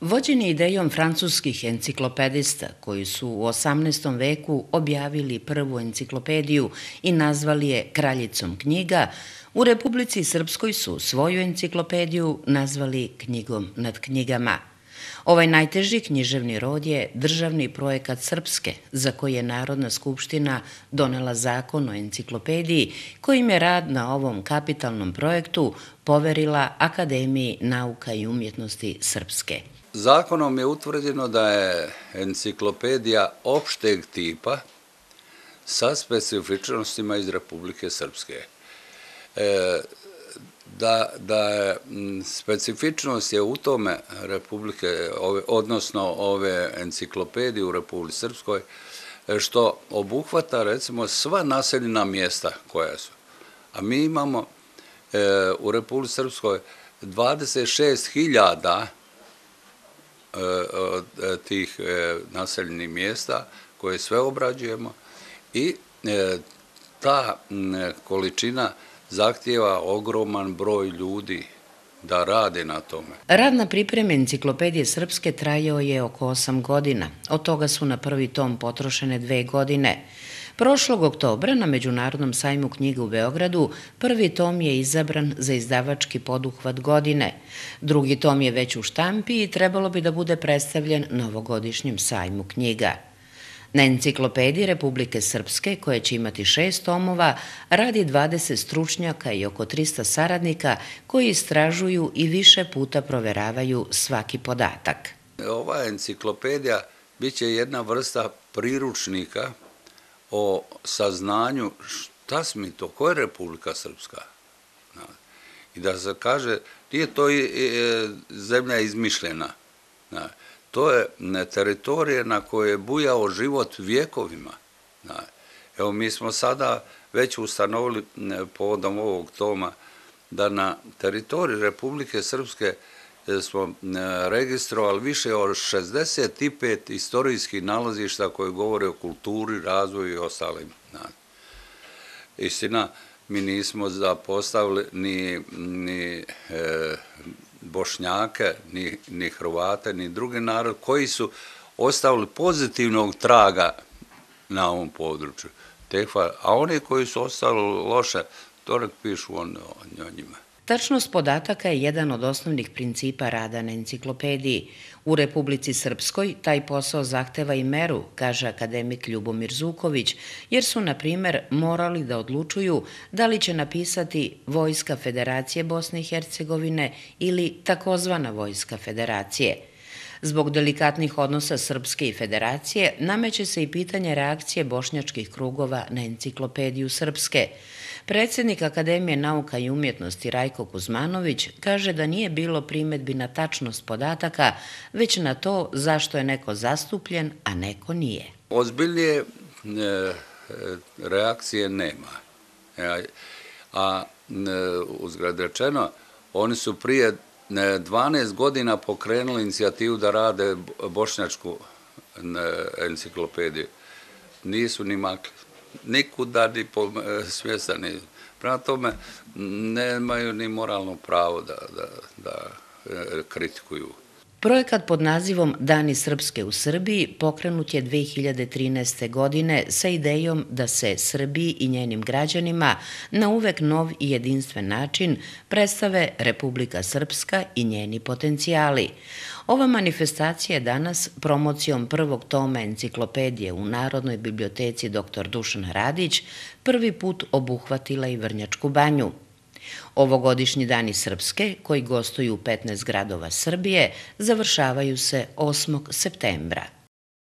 Vođeni idejom francuskih enciklopedista koji su u 18. veku objavili prvu enciklopediju i nazvali je Kraljicom knjiga, u Republici Srpskoj su svoju enciklopediju nazvali Knjigom nad knjigama. Ovaj najteži književni rod je državni projekat Srpske, za koji je Narodna skupština donela zakon o enciklopediji, kojim je rad na ovom kapitalnom projektu poverila Akademiji nauka i umjetnosti Srpske. Zakonom je utvrđeno da je enciklopedija opšteg tipa sa specifičnostima iz Republike Srpske. Specifičnost je u tome Republike, odnosno ove enciklopedije u Republici Srpskoj, što obuhvata recimo sva naseljena mjesta koja su. A mi imamo u Republici Srpskoj 26.000 tih naseljenih mjesta koje sve obrađujemo i ta količina zahtijeva ogroman broj ljudi da rade na tome. Rad na pripremi enciklopedije Srpske trajao je oko 8 godina. Od toga su na prvi tom potrošene 2 godine. Prošlog oktobra na Međunarodnom sajmu knjiga u Beogradu prvi tom je izabran za izdavački poduhvat godine. Drugi tom je već u štampi i trebalo bi da bude predstavljen na ovogodišnjem sajmu knjiga. Na enciklopediji Republike Srpske, koja će imati 6 tomova, radi 20 stručnjaka i oko 300 saradnika koji istražuju i više puta proveravaju svaki podatak. Ova enciklopedija biće jedna vrsta priručnika o saznanju šta smo to, koja je Republika Srpska. I da se kaže, nije to zemlja izmišljena. To je teritorija na kojoj je bujao život vjekovima. Evo, mi smo sada već ustanovili povodom ovog toma da na teritoriji Republike Srpske smo registrovali više od 65 istorijskih nalazišta koje govore o kulturi, razvoju i ostalim. Istina, mi nismo zapostavili ni Bošnjake, ni Hrvate, ni drugi narod koji su ostavili pozitivnog traga na ovom području. A oni koji su ostavili loše, to nek pišu o njima. Tačnost podataka je jedan od osnovnih principa rada na enciklopediji. U Republici Srpskoj taj posao zahteva i meru, kaže akademik Ljubomir Zuković, jer su, na primer, morali da odlučuju da li će napisati Vojska Federacije Bosne i Hercegovine ili takozvana Vojska Federacije. Zbog delikatnih odnosa Srpske i Federacije nameće se i pitanje reakcije bošnjačkih krugova na enciklopediju Srpske. Predsjednik Akademije nauka i umjetnosti Rajko Kuzmanović kaže da nije bilo primedbi na tačnost podataka, već na to zašto je neko zastupljen, a neko nije. Ozbiljnije reakcije nema. A uzgled rečeno, oni su prije 12 godina pokrenuli inicijativu da rade bošnjačku enciklopediju. Nisu ni makli. Nikuda ni svjesani. Prema tome, nemaju ni moralno pravo da kritikuju. Projekat pod nazivom Dani Srpske u Srbiji pokrenut je 2013. godine sa idejom da se Srbiji i njenim građanima na uvek nov i jedinstven način predstave Republika Srpska i njeni potencijali. Ova manifestacija je danas promocijom prvog toma enciklopedije u Narodnoj biblioteci dr. Dušan Radić prvi put obuhvatila i Vrnjačku banju. Ovogodišnji Dani Srpske, koji gostuju u 15 gradova Srbije, završavaju se 8. septembra.